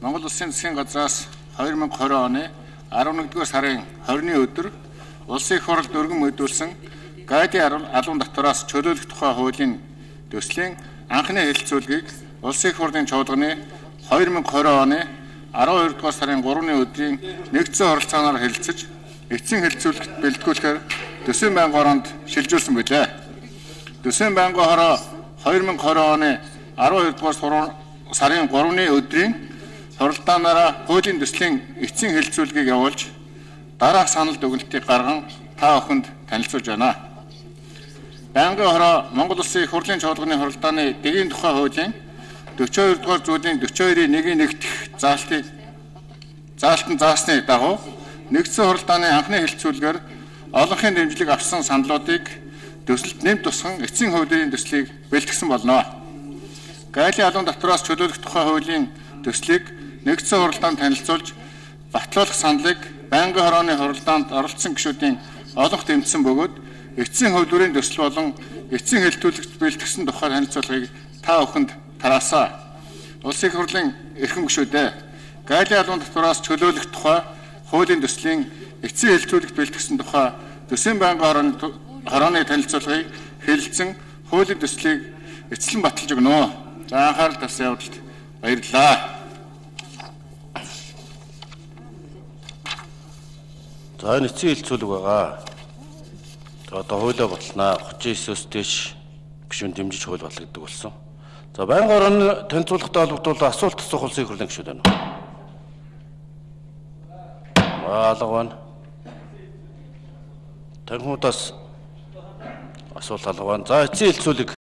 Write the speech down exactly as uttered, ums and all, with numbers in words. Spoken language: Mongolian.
Монгол Улсын засгийн газраас хоёр мянга и двадцать оны арван нэгдүгээр сарын хорины өдөр улсын их хурлд өргөн мэдүүлсэн гайдын албан татвараас чөлөөлөх тухай хуулийн төслийн анхны хэлэлцүүлгийг улсын их хурлын чуулганы хоёр мянга и двадцать оны арван хоёрдугаар сарын гуравны өдрийн нэгдсэн оролцооноор хэлэлцэж эцсийн хэлэлцүүлэгт бэлтгүүлэхээр Төсвийн байнгын хороонд шилжүүлсэн билээ. Төсвийн байнгын хороо хоёр мянга и двадцать оны арван хоёрдугаар сарын гуравны өдрийн хуралдаанаараа хуулийн төслийн эцсийн хэлэлцүүлгийг явуулж дараах санал дүгнэлтийг гарган та бүхэнд танилцуулж байна. Байнгын хороо Монгол Улсын их хурлын чуулганы хуралдааны дэгийн тухай хуулийн дөрвөн и двадцать дугаар зүйлийн дөрвөн и хоёрын нэг дэх заалтыг заалтан заасны дагуу нэгдсэн хуралдааны анхны хэлэлцүүлгээр олонхын дэмжлэг авсан саналуудыг төсөлд нэмт тусган эцсийн хуулийн төслийг бэлтгэсэн болно. Гайлийн албан татвараас чөлөөлөх тухай хуулийн төслийг нэгдсэн хуралдаанд танилцуулж батлуулах саналыг байнгын хорооны хуралдаанд оролцсон гишүүдийн олонх тэмцсэн бөгөөд эцсийн хуулийн төсөл болон эцсийн хэлэлцүүлэгт бэлтгэсэн тухай танилцуулгыг та бүхэнд тараасаа. Улсын их хурлын эрхэм гишүүдээ гайлийн албан татвараас чөлөөлөх тухай хуулийн төслийн эцсийн хэлэлцүүлэгт бэлтгэсэн тухай Төсвийн байнгын хорооны танилцуулгыг хэлэлцэн хуулийн төслийг эцэлэн баталж өгнө. За анхаарал тавьсан явдалд баярлалаа. За энэ эцсийн хэлэлцүүлэг байгаа. За одоо хуулиа баталнаа. отыз девятөөс дээш гишүүн дэмжиж хууль батлагддаг болсон. За байнгын хорооны танилцуулгатай холбогдуулан асуулт асуух улсын их хурлын гишүүд байна. Алга байна. Танхимудаас асуулт алга байна. За эцсийн хэлэлцүүлэг